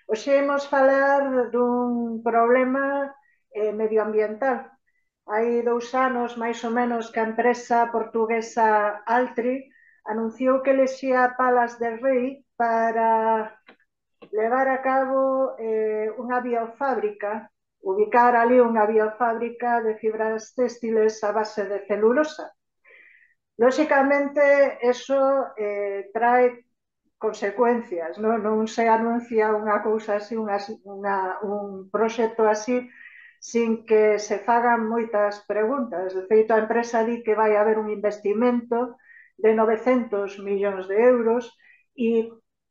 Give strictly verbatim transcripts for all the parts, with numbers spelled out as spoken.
Hoxe imos falar dun problema eh, medioambiental. Hai dous anos, máis ou menos, que a empresa portuguesa Altri anunciou que elexía Palas de Rei para levar a cabo eh, unha biofábrica, ubicar ali unha biofábrica de fibras textiles a base de celulosa. Lóxicamente, eso eh, trae consecuencias, non, non se anuncia unha cousa así, unha, unha, un proxecto así, sin que se fagan moitas preguntas. De feito, a empresa di que vai haber un investimento de novecentos millóns de euros e,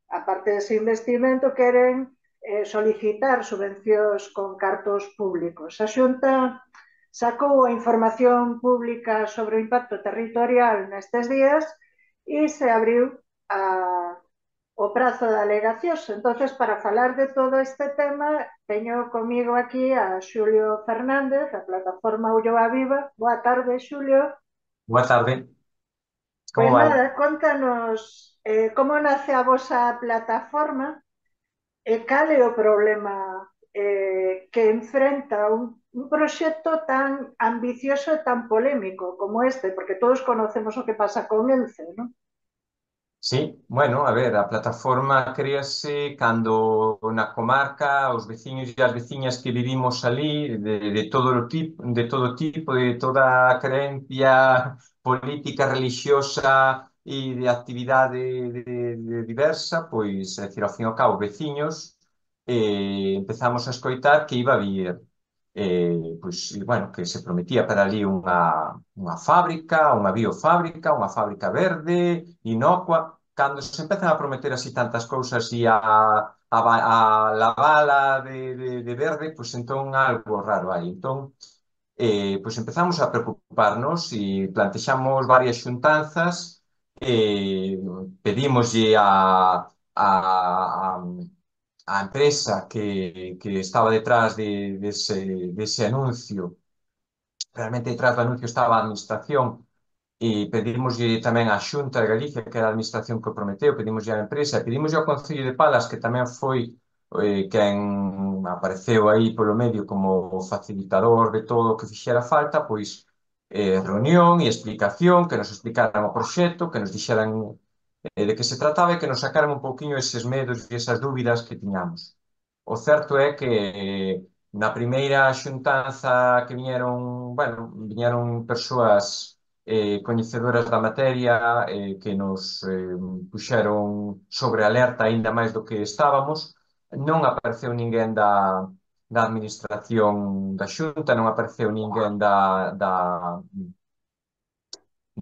aparte dese investimento, queren eh, solicitar subvencións con cartos públicos. A Xunta sacou a información pública sobre o impacto territorial nestes días e se abriu a o prazo de alegacións. Entonces, para falar de todo este tema, teño comigo aquí a Xulio Fernández, da plataforma Ulloa Viva. Boa tarde, Xulio. Boa tarde, Pois como vai? nada, contanos eh, como nace a vosa plataforma e cal é o problema eh, que enfrenta un, un proxecto tan ambicioso e tan polémico como este, porque todos conocemos o que pasa con Ence, non? Sí, bueno, a ver, a plataforma créase cando na comarca os veciños e as veciñas que vivimos ali de, de todo o tipo, de todo tipo, de toda a creencia política, religiosa e de actividade de, de diversa, pois, é dicir, ao fin e ao cabo, veciños, eh, empezamos a escoitar que iba a vir eh, pois, e, bueno, que se prometía para ali unha, unha fábrica, unha biofábrica, unha fábrica verde, inocua. Cando se empezan a prometer así tantas cousas e a, a, a lavala de, de, de verde, pois entón algo raro hai. Entón, eh, pois empezamos a preocuparnos e plantexamos varias xuntanzas, eh, pedimoslle a, a, a a empresa que, que estaba detrás de, de ese, de ese anuncio, realmente detrás do anuncio estaba a administración e pedimoslle tamén á Xunta de Galicia, que era a administración que o prometeu, pedimoslle á empresa, e pedimoslle ao Concello de Palas, que tamén foi eh, quen apareceu aí polo medio como facilitador de todo o que fixera falta, pois eh, reunión e explicación, que nos explicaran o proxecto, que nos dixeran eh, de que se trataba e que nos sacaran un pouquiño eses medos e esas dúbidas que tiñamos. O certo é que eh, na primeira xuntanza que viñeron, bueno, viñeron persoas eh, coñecedoras da materia eh, que nos eh, puxeron sobre alerta aínda máis do que estábamos. Non apareceu ninguén da, da administración da Xunta, non apareceu ninguén da, da,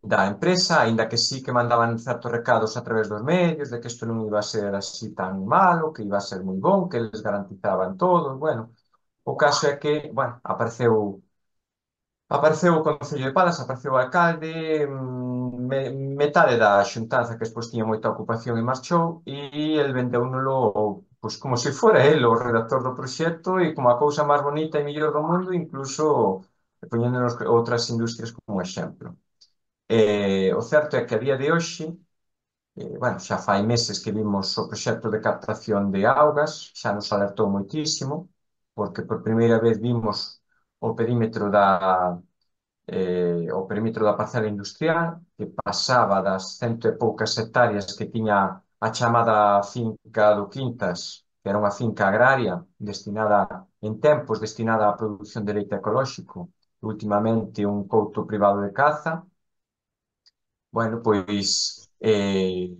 da empresa, aínda que sí que mandaban certos recados a través dos medios de que isto non iba a ser así tan malo, que iba a ser moi bon, que eles garantizaban todo. Bueno, o caso é que, bueno, apareceu apareceu o Concello de Palas, apareceu o alcalde, mm, me, metade da xuntanza que despois tiña moita ocupación e marchou, e el vendéunolo pois como se fora el o redactor do proxecto e como a cousa máis bonita e mellor do mundo, incluso poñéndonos outras industrias como exemplo. Eh, o certo é que a día de hoxe, eh, bueno, xa fai meses que vimos o proxecto de captación de augas, xa nos alertou moitísimo, porque por primeira vez vimos o perímetro da, eh, o perímetro da parcela industrial, que pasaba das cento e poucas hectáreas que tiña a chamada finca do Quintas, que era unha finca agraria destinada, en tempos, destinada á produción de leite ecolóxico, últimamente un couto privado de caza. Bueno, pois eh,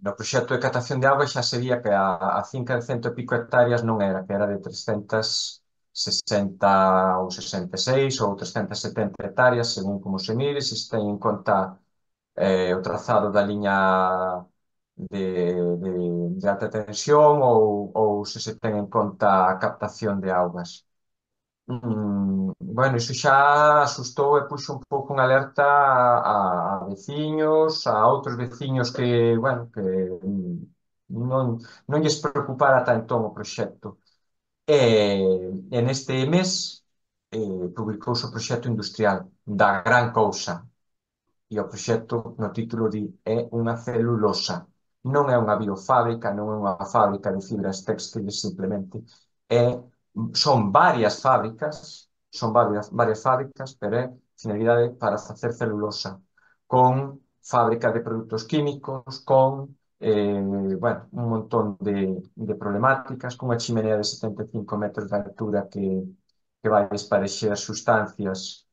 no proxecto de captación de auga xa se vía que a, a finca de cento e pico hectáreas non era, que era de trescentas e sesenta ou sesenta e seis ou trescentas e setenta hectáreas, según como se mire, se se ten en conta eh, o trazado da liña de, de, de alta tensión ou, ou se se ten en conta a captación de augas. Mm, bueno, iso xa asustou e puxo un pouco en alerta a, a veciños, a outros veciños que, bueno, que mm, non, non lles preocupara tanto o proxecto. E, e neste mes eh, publicouse o proxecto industrial da gran cousa. E o proxecto no título di é unha celulosa. non é unha biofábrica, non é unha fábrica de fibras textiles simplemente, é, son varias fábricas, son varias, varias fábricas, pero é finalidade para facer celulosa, con fábrica de produtos químicos, con eh, bueno, un montón de, de problemáticas, cunha chimenea de setenta e cinco metros de altura que, que vai esparexer sustancias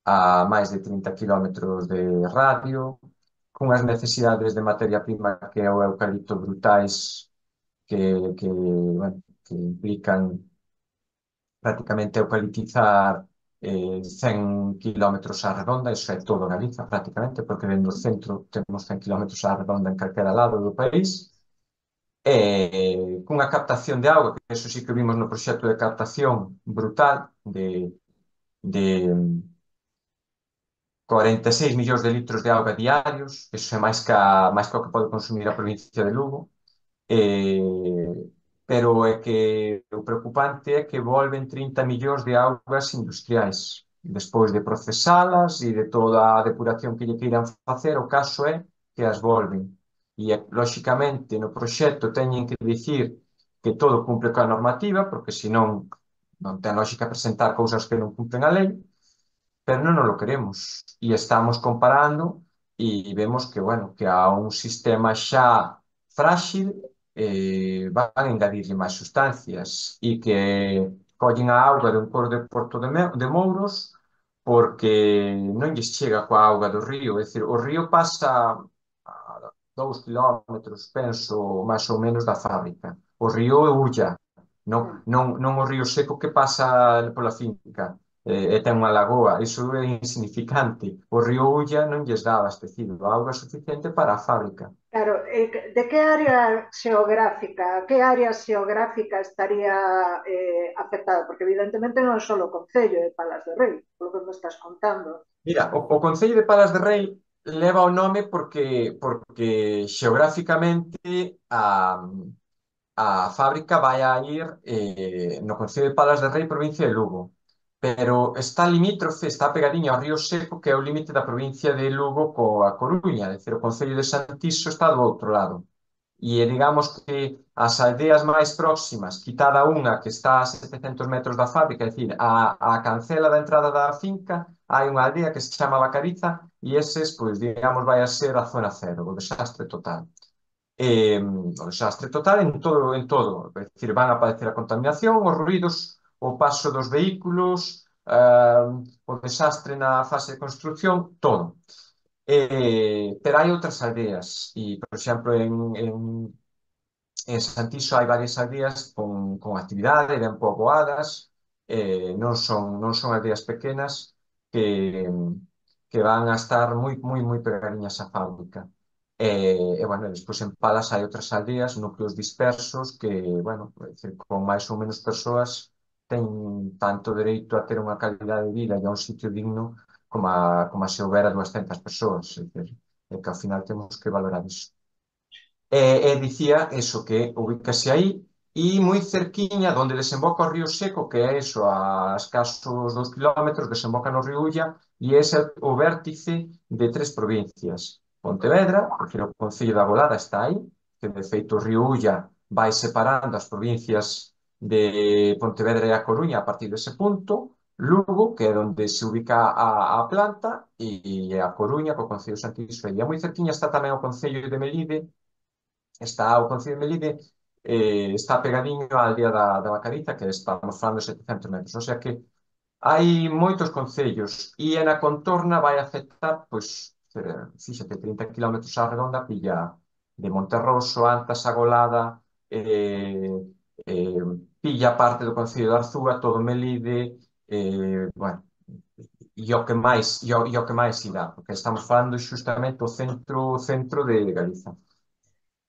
a máis de trinta kilómetros de radio, cunhas necesidades de materia prima que é o eucalipto brutais que, que, bueno, que implican prácticamente eucalitizar eh, cen kilómetros á redonda, iso é todo Galiza prácticamente, porque dentro do centro temos cen kilómetros á redonda en calquera lado do país, e cunha captación de auga, que eso sí que vimos no proxecto de captación brutal, de, de cuarenta e seis millóns de litros de auga diarios, eso é máis que, a, máis que o que pode consumir a provincia de Lugo. Eh, pero é que o preocupante é que volven trinta millóns de augas industriais. Despois de procesalas e de toda a depuración que lle queiran facer, o caso é que as volven. E, lóxicamente, no proxecto teñen que dicir que todo cumple coa normativa, porque senón non ten lógica presentar cousas que non cumplen a lei, pero non nos lo queremos. E estamos comparando e vemos que, bueno, que a un sistema xa frágil eh, van a engadirle máis sustancias e que collen a auga de un cor de Porto de, Me de Mouros porque non lles chega coa auga do río. É dicir, o río pasa a dous kilómetros, penso, máis ou menos da fábrica. O río é Ulla, non, non, non o río seco que pasa pola finca eh, e ten unha lagoa, iso é insignificante. O río Ulla non lles dá abastecido a auga suficiente para a fábrica. Claro, eh, de que área xeográfica, que área xeográfica estaría eh, afectada? Porque evidentemente non é só o Concello de Palas de Rei, polo que me estás contando. Mira, o, o Concello de Palas de Rei leva o nome porque, porque xeográficamente a, a fábrica vai a ir eh, no Concello de Palas de Rei, provincia de Lugo. Pero está limítrofe, está pegadiño ao río Seco, que é o límite da provincia de Lugo coa Coruña, é dicir, o Concello de Santiso está do outro lado. E digamos que as aldeas máis próximas, quitada unha que está a setecentos metros da fábrica, é dicir, a, a cancela da entrada da finca, hai unha aldea que se chama Bacariza e eses, pois, digamos, vai a ser a zona cero, o desastre total. Eh, o desastre total en todo, en todo. É dicir, van a aparecer a contaminación, os ruidos, o paso dos vehículos, eh, o desastre na fase de construcción, todo. Eh, pero hai outras aldeas e, por exemplo, en, en En Santiso hai varias aldeas con, con actividade, ben poboadas, eh, non son, non son aldeas pequenas que, que van a estar moi, moi, moi pegadiñas á fábrica. E, e, bueno, despois en Palas hai outras aldeas, núcleos dispersos, que, bueno, é dicir, con máis ou menos persoas ten tanto dereito a ter unha calidade de vida e a un sitio digno como a, como a se houbera duascentas persoas. É dicir, é que ao final temos que valorar iso. E, e dicía eso, que ubicase aí e moi cerquiña donde desemboca o río Seco, que é eso, a escasos dos kilómetros, desemboca no río Ulla e é o vértice de tres provincias. Pontevedra, porque o Concello da Golada está aí, que de feito o río Ulla vai separando as provincias de Pontevedra e a Coruña a partir dese punto, Lugo, que é onde se ubica a, a planta, e, e a Coruña, co Concello de Santiso. E moi cerquiña está tamén o Concello de Melide, está o Concello de Melide, eh, está pegadiño á aldea da, da Bacariza, que estamos falando de setecentos metros. O sea que hai moitos concellos e na contorna vai afectar, pois, eh, fíxate, trinta kilómetros á redonda, pilla de Monterroso, Antas, Agolada, eh, eh, pilla parte do Concello de Arzúa, todo Melide, eh, bueno, e o que máis, e o, e o que máis irá, porque estamos falando xustamente o centro, centro de, de Galiza.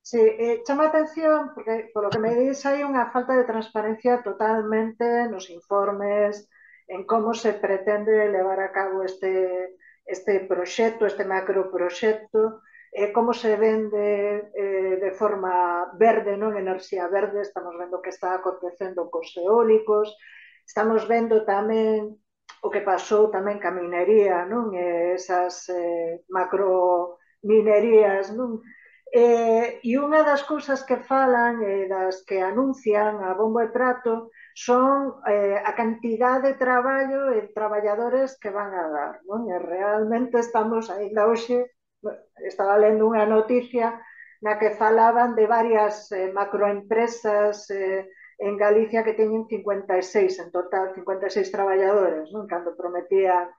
Sí, eh, chama a atención, porque polo que me dis hai unha falta de transparencia totalmente nos informes, en como se pretende levar a cabo este, este proxecto, este macroproxecto, eh, como se vende eh, de forma verde, non enerxía verde, estamos vendo que está acontecendo cos eólicos, estamos vendo tamén o que pasou tamén ca minería, non? Eh, esas eh, macrominerías, non? Eh, e unha das cousas que falan e eh, das que anuncian a bombo e prato son eh, a cantidad de traballo e traballadores que van a dar, non? E realmente estamos, ainda hoxe, estaba lendo unha noticia na que falaban de varias eh, macroempresas eh, en Galicia que teñen cincuenta e seis en total, cincuenta e seis traballadores, non? Cando prometían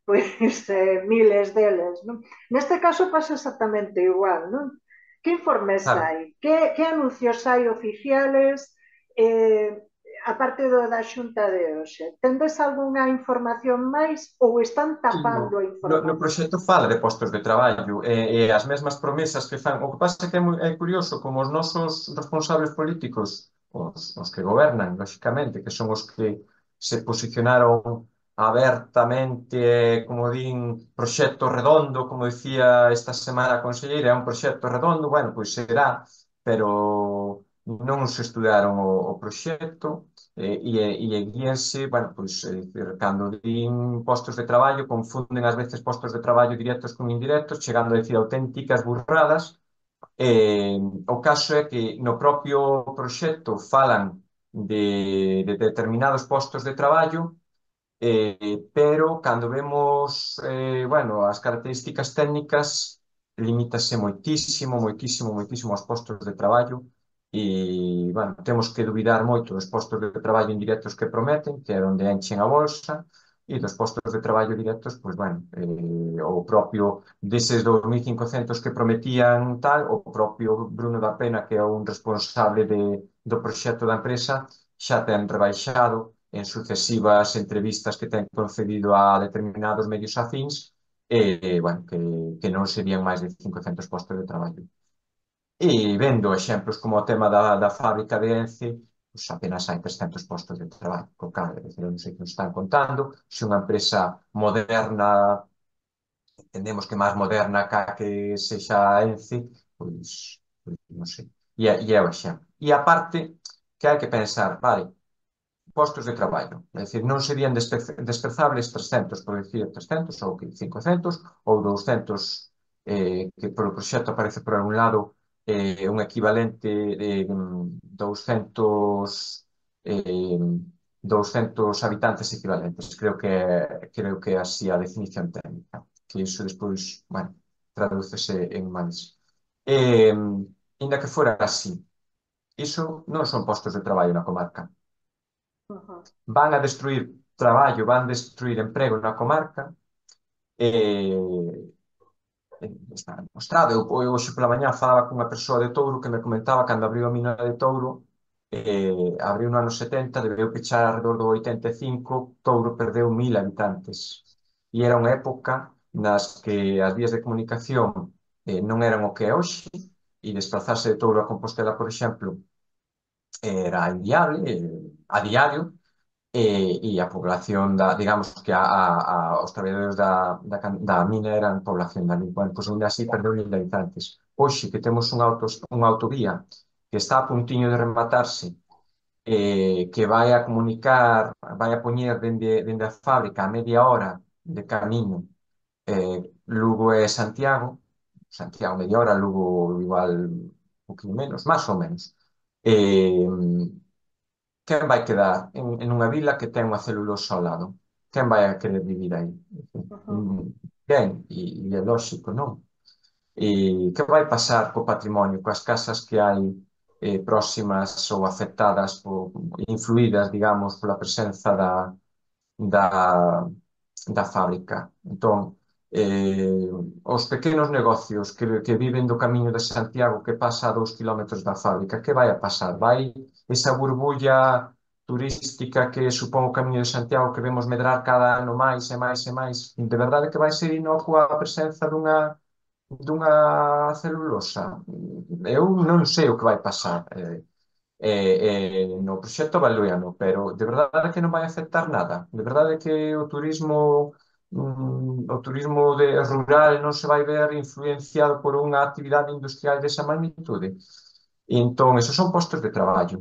pois eh, miles deles, non? Neste caso pasa exactamente igual, non? Que informes Claro. hai? Que, que anuncios hai oficiales eh, aparte do da xunta de hoxe? Tendes algunha información máis ou están Sí, no, tapando a no, no información? proxecto fala de postos de traballo e, e as mesmas promesas que fan. O que pasa é que é, moi, é curioso como os nosos responsables políticos, os, os que gobernan, lóxicamente, que son os que se posicionaron abertamente, como din, proxecto redondo, como dicía esta semana a conselleira, é un proxecto redondo, bueno, pois será, pero non se estudaron o, o proxecto. Eh, e, e guíanse, bueno, pois, é dicir, cando din postos de traballo, confunden ás veces postos de traballo directos con indirectos, chegando a decir auténticas burradas. Eh, o caso é que no propio proxecto falan de, de determinados postos de traballo, eh, pero cando vemos, eh, bueno, as características técnicas, limítase moitísimo, moitísimo, moitísimo aos postos de traballo e, bueno, temos que duvidar moito dos postos de traballo indirectos que prometen, que é onde enchen a bolsa, e dos postos de traballo directos, pois, bueno, eh, o propio deses dous mil e cincocentos que prometían tal, o propio Bruno da Pena, que é un responsable de, do proxecto da empresa, xa ten rebaixado en sucesivas entrevistas que ten concedido a determinados medios afíns, eh, bueno, que, que non serían máis de cincocentos postos de traballo. E vendo exemplos como o tema da, da fábrica de Ence, pues apenas hai trescentos postos de traballo, co cal, é dicir, non sei que nos están contando, se unha empresa moderna, entendemos que máis moderna ca que sexa Ence, pois, pois non sei. E é, e é o exemplo. E aparte, que hai que pensar, vale, postos de traballo. É dicir, non serían despe- desprezables trescentos, por dicir trescentos ou que cincocentos ou douscentos, eh, que polo proxecto aparece por algún lado eh, un equivalente de mm, douscentos, eh, douscentos habitantes equivalentes. Creo que creo que é así a definición técnica, que iso despois, bueno, tradúcese en máis. Eh, Ainda que fora así, iso non son postos de traballo na comarca, Uhum. van a destruir traballo, van a destruir emprego na comarca, e está demostrado. Eu, eu hoxe pola mañá falaba cunha persoa de Touro que me comentaba cando abriu a mina de Touro, eh, abriu no ano setenta, debeu pechar alrededor do oitenta e cinco, Touro perdeu mil habitantes. E era unha época nas que as vías de comunicación eh, non eran o que é hoxe, e desplazarse de Touro a Compostela, por exemplo, era inviable eh, a diario, e, e a población da, digamos que a, a, a, os traballadores da, da, da mina eran población da mina. Bueno, pois ainda así perdeu mil habitantes. Hoxe que temos unha, autos, unha autovía que está a puntiño de rematarse, eh, que vai a comunicar, vai a poñer dende, dende a fábrica a media hora de camiño, eh, Lugo e Santiago, Santiago media hora, Lugo igual un poquinho menos, máis ou menos. Eh, Quen vai quedar en, en unha vila que ten unha celulosa ao lado? Quen vai a querer vivir aí? Uhum. Mm, Ben, e, e é lógico, non? E que vai pasar co patrimonio, coas casas que hai eh, próximas ou afectadas ou influídas, digamos, pola presenza da, da, da fábrica? Entón, eh, os pequenos negocios que, que viven do Camiño de Santiago que pasa a dous kilómetros da fábrica, que vai a pasar? Vai esa burbulla turística que supón o Camiño de Santiago que vemos medrar cada ano máis e máis e máis, de verdade que vai ser inocua a presenza dunha dunha celulosa? Eu non sei o que vai pasar. Eh, eh, eh, no proxecto Baleano, pero de verdade que non vai afectar nada. De verdade que o turismo mm, o turismo de rural non se vai ver influenciado por unha actividade industrial desa magnitude. E entón, esos son postos de traballo.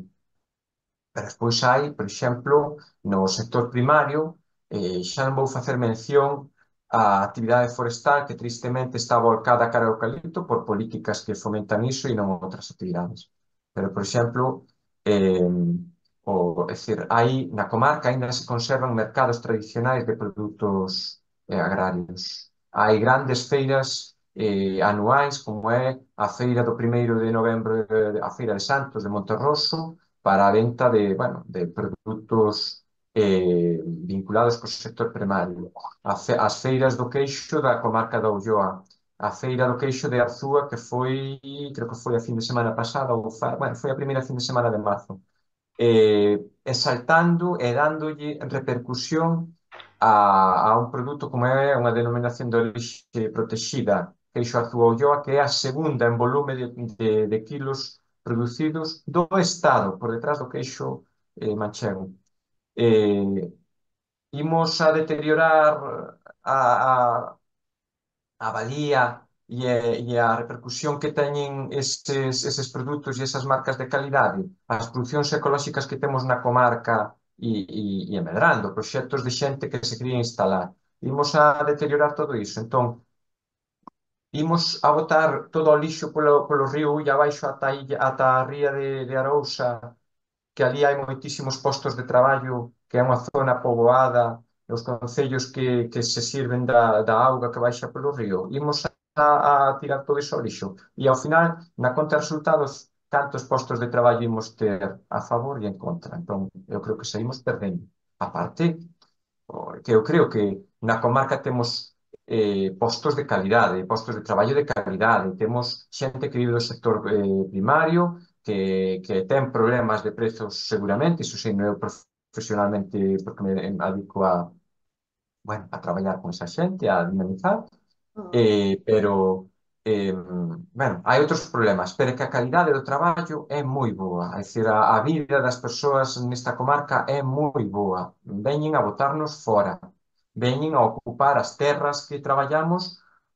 Pero despois hai, por exemplo, no sector primario, eh, xa non vou facer mención a actividade forestal que tristemente está volcada cara ao eucalipto por políticas que fomentan iso e non outras actividades. Pero, por exemplo, eh, o, é dicir, aí na comarca ainda se conservan mercados tradicionais de produtos eh, agrarios. Hai grandes feiras eh, anuais, como é a feira do primeiro de novembro, eh, a feira de Santos de Monterroso, para a venta de, bueno, de produtos eh, vinculados co sector primario. A fe- As feiras do queixo da comarca da Ulloa, a feira do queixo de Arzúa, que foi, creo que foi a fin de semana pasada, ou fa, bueno, foi a primeira fin de semana de marzo, eh, exaltando e dándolle repercusión a, a un produto como é unha denominación de orixe protexida, queixo Arzúa Ulloa, que é a segunda en volume de, de, de kilos producidos do Estado, por detrás do queixo eh, manchego. Eh, Imos a deteriorar a, a, a valía e, a- e a repercusión que teñen eses, eses produtos e esas marcas de calidade, as producións ecolóxicas que temos na comarca e, e, e a medrando, proxectos de xente que se quería instalar. Imos a deteriorar todo iso. Entón, imos a botar todo o lixo polo, polo río Ulla abaixo ata, a illa- ata a ría de, de Arousa, que ali hai moitísimos postos de traballo, que é unha zona poboada, e os concellos que, que se sirven da, da auga que baixa polo río. Imos a, a tirar todo iso ao lixo. E ao final, na conta de resultados, cantos postos de traballo imos ter a favor e en contra. Entón, eu creo que saímos perdendo. A parte, que eu creo que na comarca temos eh, postos de calidade, postos de traballo de calidade, temos xente que vive do sector eh, primario, que, que ten problemas de prezos seguramente, iso sei, eu profesionalmente, porque me dedico a, bueno, a traballar con esa xente, a dinamizar, Mm. eh, pero, eh, bueno, hai outros problemas, pero é que a calidade do traballo é moi boa. É dicir, a, a vida das persoas nesta comarca é moi boa. Veñen a botarnos fora. Veñen a ocupar as terras que traballamos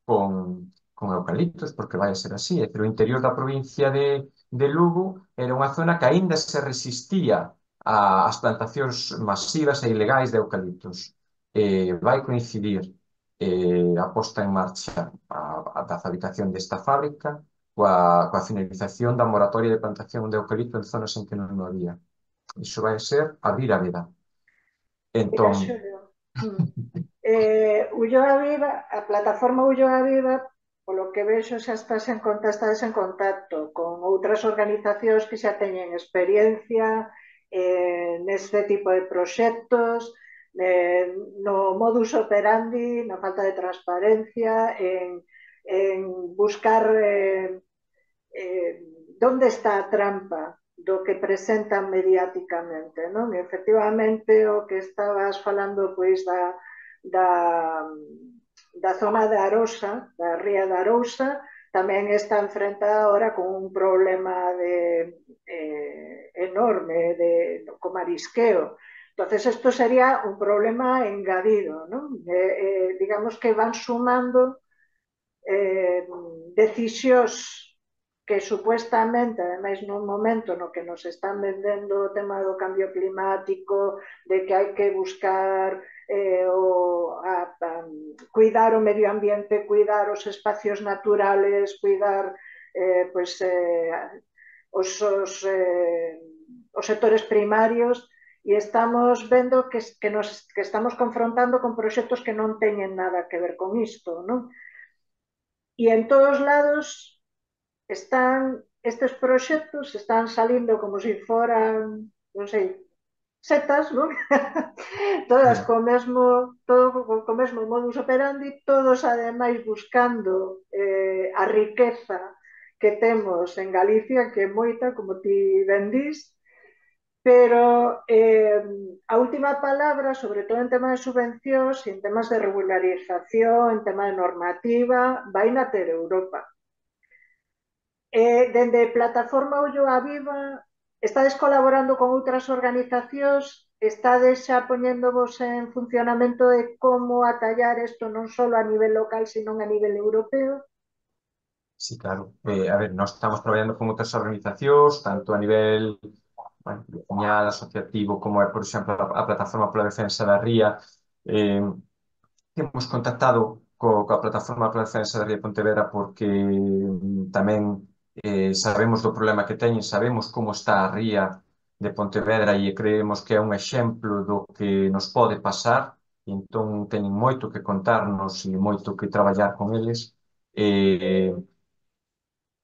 con, con eucaliptos, porque vai a ser así. É dicir, o interior da provincia de, de Lugo era unha zona que aínda se resistía a- ás plantacións masivas e ilegais de eucaliptos. Eh, vai coincidir eh, a posta en marcha a, a da fabricación desta fábrica coa, coa finalización da moratoria de plantación de eucalipto en zonas en que non o había. Iso vai ser abrir a veda. Mira, Entón, Xulio, mm. eh, Ulloa Viva, a plataforma Ulloa Viva, polo que vexo xa estás en contacto, estás en contacto con outras organizacións que xa teñen experiencia eh, neste tipo de proxectos, eh, no modus operandi, na falta de transparencia, en, en buscar eh, eh, onde está a trampa do que presentan mediáticamente, non? E, efectivamente, o que estabas falando, pois, da, da, da zona de Arosa, da ría de Arousa, tamén está enfrentada ahora con un problema de, eh, enorme de, co marisqueo. Entonces, isto sería un problema engadido, non? Eh, eh, digamos que van sumando eh, decisións que supuestamente, ademais nun momento no que nos están vendendo o tema do cambio climático, de que hai que buscar eh, o, a, a, cuidar o medio ambiente, cuidar os espacios naturales, cuidar eh, pues, eh, os, os, eh, os sectores primarios, e estamos vendo que, que, nos, que estamos confrontando con proxectos que non teñen nada que ver con isto, non? E en todos lados están estes proxectos, están salindo como se si foran, non sei, setas, non? Todas co mesmo, todo co mesmo modus operandi, todos ademais buscando eh, a riqueza que temos en Galicia, que é moita, como ti ben dís, pero eh, a última palabra, sobre todo en temas de subvencións, en temas de regularización, en tema de normativa, vai na ter Europa. Eh, dende Plataforma Ulloa Viva, estades colaborando con outras organizacións, estades xa poñéndovos en funcionamento de como atallar isto non só a nivel local, sino a nivel europeo? sí, claro. Eh, a ver, nós estamos traballando con outras organizacións, tanto a nivel bueno, veciñal, asociativo, como é, por exemplo, a, a Plataforma pola Defensa da Ría, eh, temos contactado co, coa plataforma para a defensa da ría de Pontevedra porque mm, tamén eh, sabemos do problema que teñen, sabemos como está a ría de Pontevedra e creemos que é un exemplo do que nos pode pasar, e entón teñen moito que contarnos e moito que traballar con eles. Eh,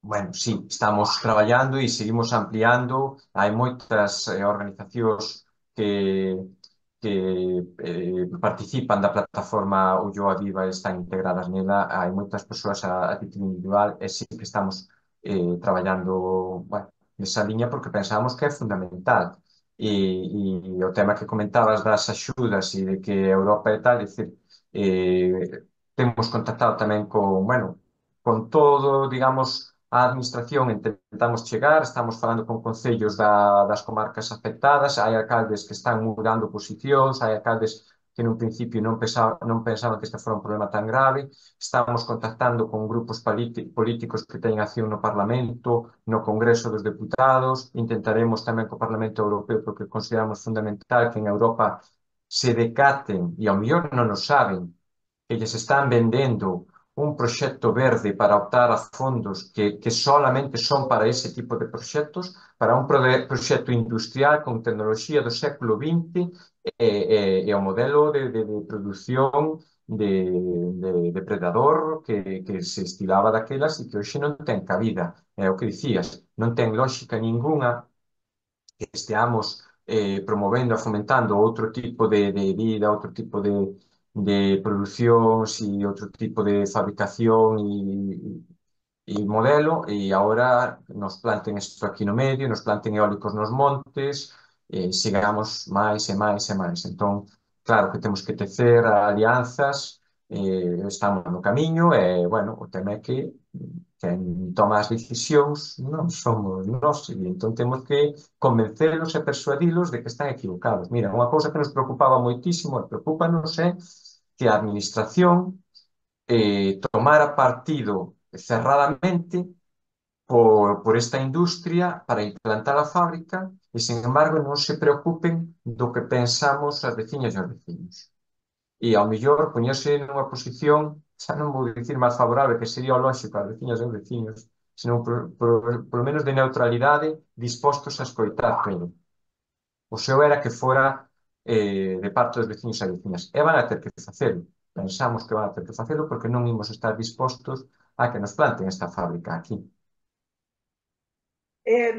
Bueno, sí, estamos traballando e seguimos ampliando. Hai moitas eh, organizacións que, que eh, participan da plataforma Ulloa Viva e están integradas nela. Hai moitas persoas a, a título individual e sí que estamos eh, traballando, bueno, nesa liña porque pensamos que é fundamental. E, e o tema que comentabas das axudas e de que Europa e tal, é dicir, eh, temos contactado tamén con, bueno, con todo, digamos, a administración intentamos chegar, estamos falando con concellos da, das comarcas afectadas, hai alcaldes que están mudando posicións, hai alcaldes que nun principio non, pensaba, non pensaban que este fora un problema tan grave, estamos contactando con grupos políticos que teñen acción no Parlamento, no Congreso dos Deputados, intentaremos tamén co Parlamento Europeo porque consideramos fundamental que en Europa se decaten, e ao mellor non o saben, que lles están vendendo un proxecto verde para optar a fondos que, que solamente son para ese tipo de proxectos, para un proxecto industrial con tecnoloxía do século vinte e, e, e o modelo de, de, de produción de, de depredador que, que se estilaba daquelas e que hoxe non ten cabida. É o que dicías, non ten lógica ningunha que esteamos eh, promovendo e fomentando outro tipo de, de vida, outro tipo de, de producións e outro tipo de fabricación e, e modelo, e agora nos planten isto aquí no medio, nos planten eólicos nos montes, e sigamos máis e máis e máis. Entón, claro que temos que tecer alianzas, eh, estamos no camiño, e, bueno, o tema é que quen toma as decisións non somos nós, e entón temos que convencelos e persuadilos de que están equivocados. Mira, unha cousa que nos preocupaba moitísimo e preocupanos é que a administración eh, tomara partido cerradamente por, por esta industria para implantar a fábrica e, sin embargo, non se preocupen do que pensamos as veciñas e os veciños. E, ao mellor, poñerse nunha posición, xa non vou dicir máis favorable, que sería o lógico ás veciñas e os veciños, senón, por, por, por lo menos, de neutralidade, dispostos a escoitar todo. O seu era que fora eh, de parte dos veciños e veciñas. E van a ter que facelo. Pensamos que van a ter que facelo porque non imos estar dispostos a que nos planten esta fábrica aquí. Eh,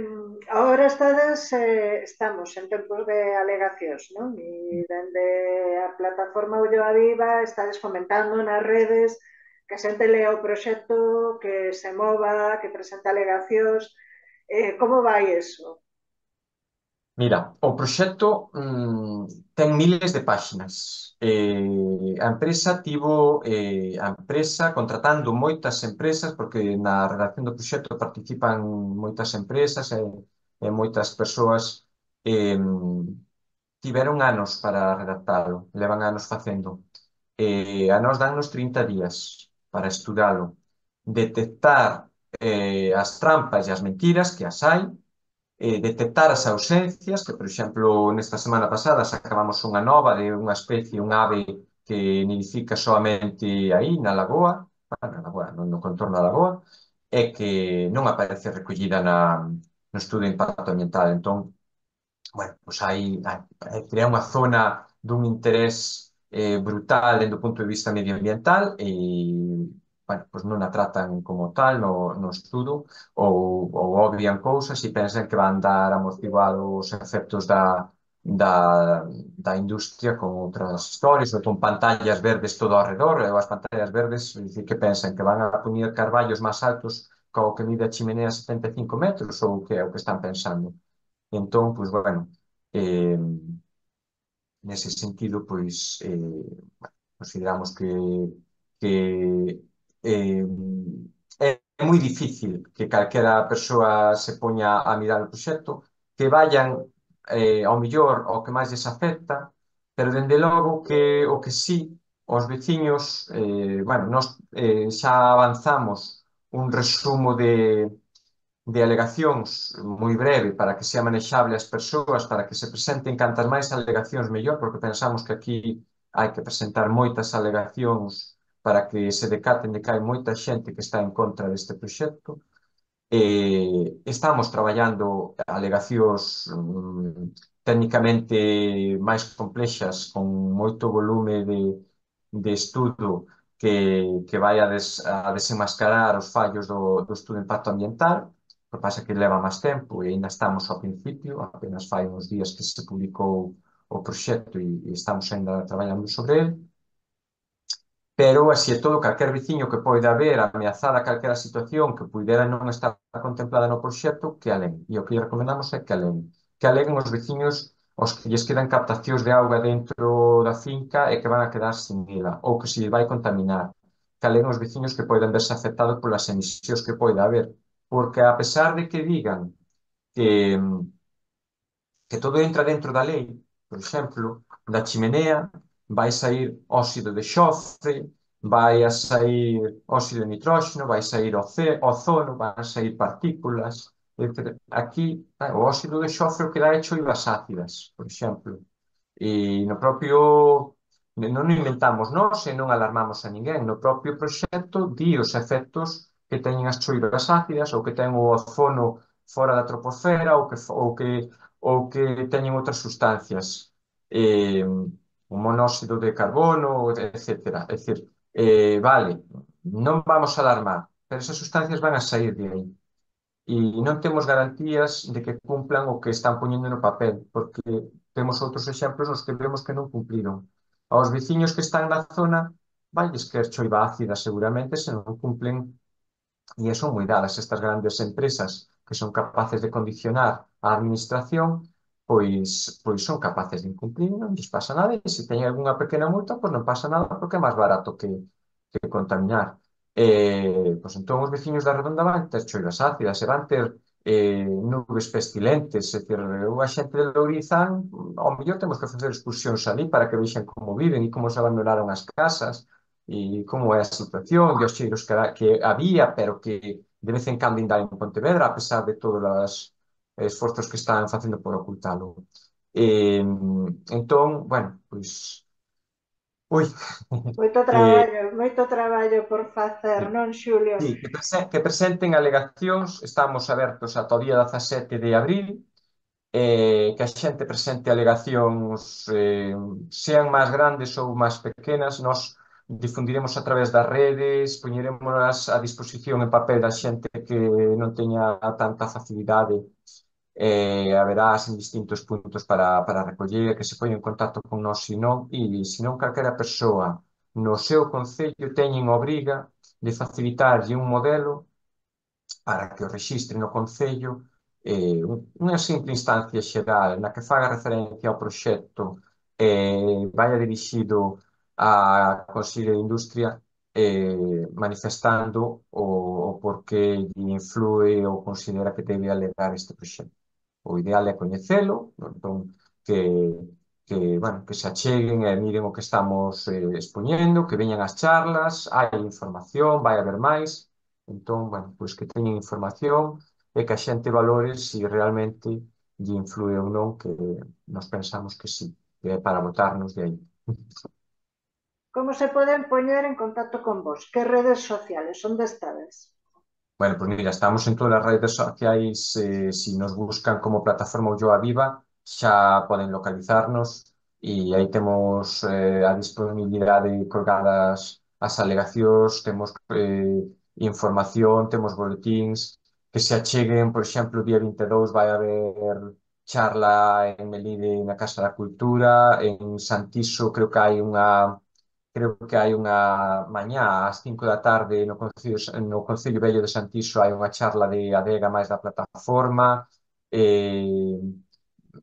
ahora estades, eh, estamos en tempos de alegacións, non? E dende a plataforma Ulloa Viva estades comentando nas redes que a xente lea o proxecto, que se mova, que presenta alegacións. Eh, como vai eso? Mira, o proxecto mm, ten miles de páxinas. Eh, a empresa tivo eh, a empresa contratando moitas empresas, porque na redacción do proxecto participan moitas empresas e, e moitas persoas. eh, Tiveron anos para redactalo, levan anos facendo. Eh, a nós dannos trinta días para estudalo, detectar eh, as trampas e as mentiras, que as hai, eh, detectar as ausencias, que, por exemplo, nesta semana pasada sacábamos unha nova de unha especie, un ave que nidifica solamente aí, na lagoa, bueno, na lagoa, no, no contorno da lagoa, e que non aparece recollida na, no estudo de impacto ambiental. Entón, bueno, pois hai, hai, crea unha zona dun interés eh, brutal dentro do punto de vista medioambiental e, bueno, pois non a tratan como tal no, no estudo ou, ou obvian cousas e pensan que van dar amortiguado os efectos da, da, da industria con outras historias ou con pantallas verdes todo ao redor, e as pantallas verdes, é dicir, que pensan que van a poñer carballos máis altos co que mide a chimenea setenta e cinco metros ou que é o que están pensando. Entón, pois, bueno, eh, nese sentido, pois, eh, consideramos que, que eh, é moi difícil que calquera persoa se poña a mirar o proxecto, que vayan eh, ao millor ao que máis les afecta, pero dende logo que o que sí, os veciños, eh, bueno, nós eh, xa avanzamos un resumo de de alegacións moi breve para que sea manexable as persoas, para que se presenten cantas máis alegacións mellor, porque pensamos que aquí hai que presentar moitas alegacións para que se decaten de que hai moita xente que está en contra deste proxecto. Eh, estamos traballando alegacións mm, técnicamente máis complexas, con moito volume de, de estudo que, que vai a, des, a desenmascarar os fallos do, do estudo de impacto ambiental. O que pasa é que leva máis tempo e ainda estamos ao principio, apenas fai uns días que se publicou o proxecto e, e estamos ainda traballando sobre ele. Pero, así e todo, calquer veciño que poida haber ameazada calquera situación que puidera non estar contemplada no proxecto, que alen. E o que lle recomendamos é que alen. Que alen os veciños os que lles quedan captacións de auga dentro da finca e que van a quedar sin ela, ou que se vai contaminar. Que alen os veciños que poidan verse afectados polas emisións que poida haber. Porque, a pesar de que digan que, que todo entra dentro da lei, por exemplo, da chimenea vai sair óxido de xofre, vai a sair óxido de nitróxeno, vai sair ozono, van sair partículas, etcétera. Aquí, eh, o óxido de xofre o que dá é choivas ácidas, por exemplo. E no propio, non o inventamos nós e non alarmamos a ninguén. No propio proxecto di os efectos que teñen as choivas ácidas ou que ten o ozono fora da troposfera ou que, ou que, ou que teñen outras sustancias. Eh, o monóxido de carbono, etcétera. É dicir, eh, vale, non vamos a alarmar, pero esas sustancias van a sair de aí. E non temos garantías de que cumplan o que están poñendo no papel, porque temos outros exemplos nos que vemos que non cumpliron. Aos veciños que están na zona, vailles quer choiva ácida seguramente se non cumplen, e son moi dadas estas grandes empresas que son capaces de condicionar a administración, pois, pois son capaces de incumplir, non lles pasa nada, e se teñen algunha pequena multa, pois non pasa nada porque é máis barato que, que contaminar. Eh, pois entón os veciños da redonda van ter choivas ácidas e van ter eh, nubes pestilentes, é dicir, a xente de Lourizán, ao mellor temos que facer excursións ali para que vexan como viven e como se abandonaron as casas e como é a situación e os cheiros que, que había, pero que de vez en cando ainda hai en Pontevedra, a pesar de todos os esforzos que están facendo por ocultalo. Eh, entón, bueno, pois, ui, Moito eh, traballo, moito traballo por facer, non, Xulio? sí, que, prese- que presenten alegacións, estamos abertos ata o día dezasete de abril, eh, que a xente presente alegacións, eh, sean máis grandes ou máis pequenas, nós difundiremos a través das redes, poñeremos a disposición en papel da xente que non teña tanta facilidade, eh, haberás en distintos puntos para, para recoller, que se poña en contacto con nós, se non, e se non calquera persoa no seu concello teñen obriga de facilitarlle un modelo para que o rexistre no Concello, eh, unha simple instancia xeral na que faga referencia ao proxecto, eh, vaya dirixido á Consello de Industria, eh, manifestando o, o porqué lle influe ou considera que debe alegar este proxecto. O ideal é coñecelo, entón, que, que, bueno, que se acheguen e miren o que estamos eh, expoñendo, que veñan as charlas, hai información, vai haber máis, entón, bueno, pois que teñen información e que a xente valore se realmente lle influe ou non, que nos pensamos que sí, que é para botarnos de aí. Como se poden poñer en contacto con vos? Que redes sociales? Onde estades? Bueno, pues mira, estamos en todas las redes sociais, eh, si nos buscan como plataforma Ulloa Viva, xa poden localizarnos e aí temos eh, a disponibilidade colgadas as alegacións, temos eh, información, temos boletíns, que se acheguen, por exemplo, o día vinte e dous vai haber charla en Melide na Casa da Cultura, en Santiso creo que hai unha creo que hai unha mañá ás cinco da tarde no Concello, no Concello Vello de Santiso hai unha charla de adega máis da plataforma, eh,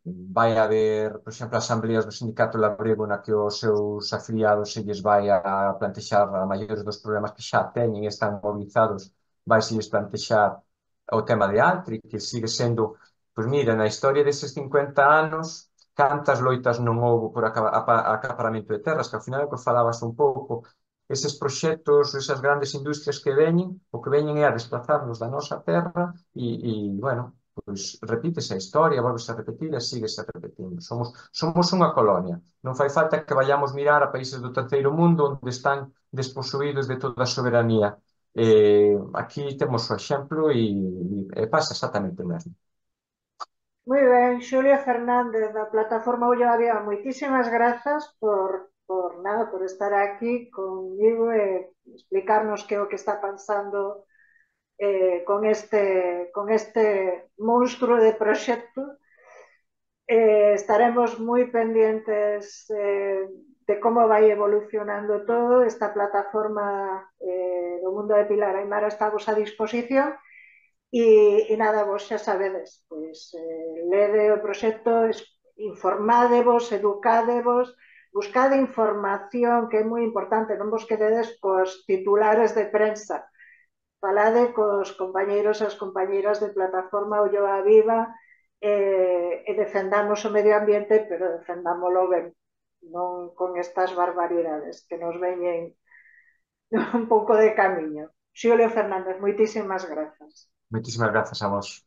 vai haber, por exemplo, asambleas do Sindicato Labrego na que os seus afiliados se lles vai a plantexar a maiores dos problemas que xa teñen e están mobilizados, vai se lles plantexar o tema de Altri, que sigue sendo, pois mira, na historia deses cincuenta anos, cantas loitas non houbo por acaparamento de terras, que ao final é o que falabas un pouco, eses proxectos, esas grandes industrias que veñen, o que veñen é a desplazarnos da nosa terra e, e bueno, pois repítese a historia, volvese a repetir e síguese repetindo. Somos, somos unha colonia. Non fai falta que vayamos mirar a países do terceiro mundo onde están desposuídos de toda a soberanía. Eh, aquí temos o exemplo e, e pasa exactamente o mesmo. Moi ben, Xulia Fernández da plataforma Ullo a Viva, moitísimas grazas por, por nada, por estar aquí conmigo e explicarnos que é o que está pensando eh, con este con este monstruo de proxecto. Eh, estaremos moi pendientes eh, de como vai evolucionando todo. Esta plataforma eh, do Mundo de Pilar Aymara está a vosa disposición. E, e nada, vos xa sabedes, pois eh, lede o proxecto, informadevos, educadevos, buscade información, que é moi importante, non vos quededes cos titulares de prensa, falade cos compañeiros e as compañeiras de plataforma Ulloa Viva eh, e defendamos o medio ambiente, pero defendámoslo ben, non con estas barbaridades que nos veñen un pouco de camiño. Xulio Fernández, moitísimas grazas. Moitísimas grazas a vos.